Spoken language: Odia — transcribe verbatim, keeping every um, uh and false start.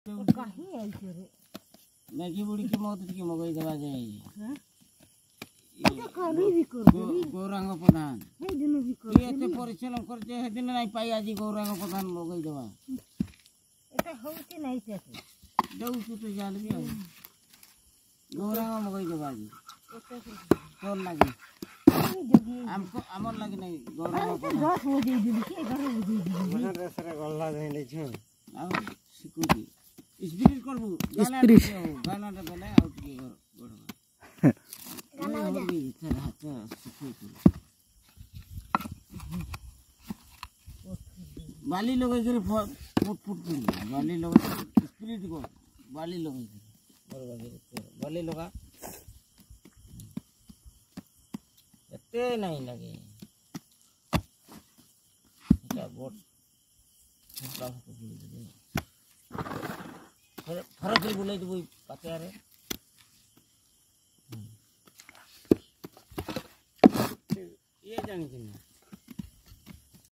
କାହିଁ ଆଇଛ ରେ? ମ୍ୟାଗି ବୁଡ଼ିକି ମୋତେ ଟିକେ ମଗେଇଦେବା ଯାଇ। କାଲି ବି କରିଦେଲି ଗୌରାଙ୍ଗ ପ୍ରଧାନ। ସେଇଦିନ ବି ତୁଇ ଏତେ ପରିଶ୍ରମ କରିଛେ, ସେଦିନ ନାଇଁ ପାଇ, ଆଜି ଗୌରାଙ୍ଗ ପ୍ରଧାନ ମଗେଇଦେବା। ଏଟା ହଉଛି ନାଇଁ ତାକୁ ଦେଉଛୁ ତ ଯାହେଲେ ବି, ଆଉ ଗୌରାଙ୍ଗ ମଗେଇଦେବା ଆଜି ତୋର ଲାଗି, ଆମକୁ ଆମର ଲାଗି ନାଇଁ ଗୌରାଙ୍ଗ ପ୍ରଧାନ। ଦଶ ବଜେଇ ଦେଲି କି ଏଗାର ବଜେଇ ଦେଲି। ଗଲା ଯାଇଛୁ ଆଉ ଶିଖୁଛି। ସ୍ପିରିଟ୍ କରିବୁ, ସ୍ପିରିଟ୍ ଗାନାଟା ବେଲେ ଆଉ ଟିକେ ବଢ଼ବା। ହାତ ଶିଖେଇଛୁ, ବାଲି ଲଗେଇକରି ଫୁଟ ଫୁଟ କରିବୁ। ବାଲି ଲଗେଇ ସ୍ପିରିଟ୍ କର, ବାଲି ଲଗେଇକରି ମୋର ବାଗିରେ ବାଲି ଲଗା। ଏତେ ନାଇଁ ଲାଗେ। এটা ବଡ଼ ବୁଲେଇ ଥରେ କରି ବୁଲେଇ ଦେବୁ ପାତିଆରେ। ଇଏ ଜାଣିଛି ନା?